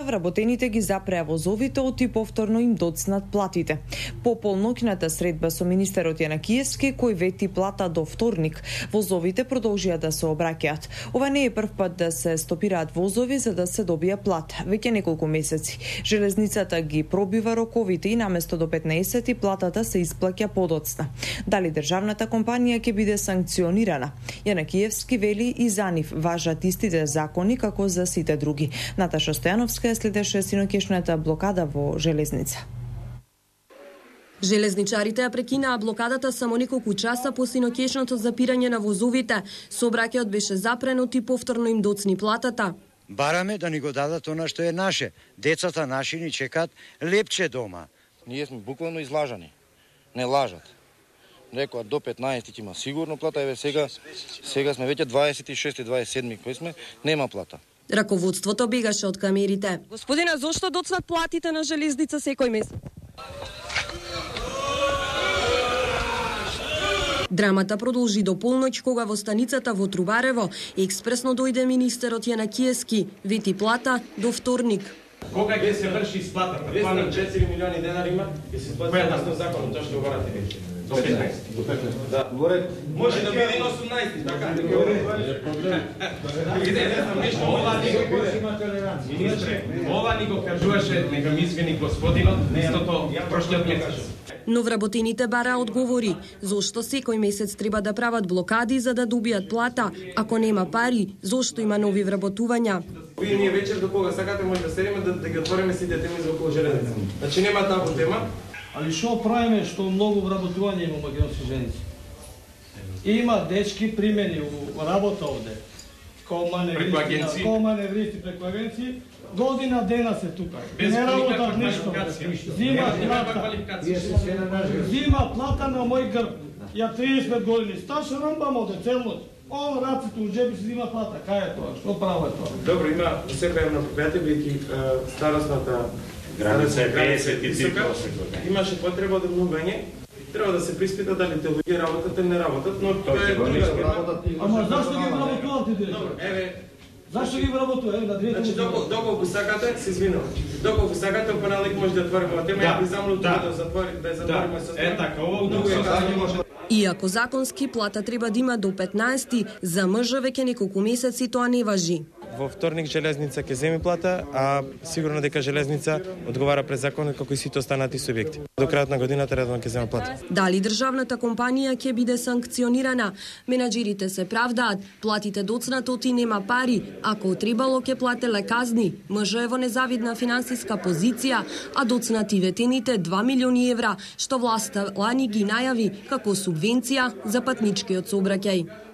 Вработените ги запреа возовите оти повторно им доцнат платите. По полноќната средба со министерот Јанакиевски, кој вети плата до вторник, возовите продолжија да се обраќаат. Ова не е прв пат да се стопираат возови за да се добија плата. Веќе неколку месеци железницата ги пробива роковите и наместо до 15 платата се исплаќа подоцна. Дали државната компанија ќе биде санкционирана? Јанакиевски вели и за нив важат истите закони како за сите други. Наташа Стојановска следеше синоќешната блокада во железница. Железничарите ја прекинаа блокадата само неколку часа по синоќешното запирање на возовите. Сообраќајот беше запренот и повторно им доцни платата. Бараме да ни го дадат она што е наше. Децата наши ни чекаат лепче дома. Ние сме буквално излажани. Не лажат. Рекоа до 15 ќе има сигурно плата, еве сега сме веќе 26 27 кои сме, нема плата. Раководството бегаше од камерите. Господине, зошто доцнат платите на железница секој месец? Драмата продолжи до полноќ кога во станицата во Трубарево експресно дојде министерот Јанакиевски, вети плата до вторник. Кога ќе се врши исплатата? 4 милиони денари има и се плати согласно законот, тоа што го барате веќе. До 15. До 15. Да. Може да биде 18, така. Ова ни го кажуваше, нека ми извини господинот, истото прошлиот месец. Но вработените бара одговори, зошто секој месец треба да прават блокади за да добијат плата, ако нема пари, зошто има нови вработувања. Вие ние вечер до кога сакате може да седиме да ги отвориме сите теми за околу железница. Значи нема табу тема. Али што правиме што многу вработување има македонски женици? Има дечки примени во работа овде. Кома невристи преку агенции, година дена се тука. Не работат ништо. Зима плата на мој грб. Ја 35 години стаж, рамбам оде цел ноќ. Он раците у джеби се зима плата. Кај е тоа? Што право е тоа? Добро, има секоја една предпријатие, бидејќи старосната граница е 53 имаше потреба од обновување. Треба да се приспита дали те луѓе работат или не работат, но тоа е друга тема. Ама зашто ги вработувате директор? Добро, еве зашто ги вработува? Еве на директор. Значи доколку сакате, се извинувам. Доколку сакате, понеделник може да отвориме оваа тема, ја би замолил да затвориме со Е така, ово друго е. Иако законски плата треба да има до 15, за мъж веќе неколку месеци тоа не важи. Во вторник железница ќе земи плата, а сигурно дека железница одговара пред законот како и сите останати субјекти. До крајот на годината редовно ќе зема плата. Дали државната компанија ќе биде санкционирана? Менаџерите се правдаат, платите доцнатоти нема пари, ако требало ќе плателе казни, мъжот е во незавидна финансиска позиција, а доцнати ветените 2 милиони евра, што власта лани ги најави како субвенција за патничкиот сообраќај.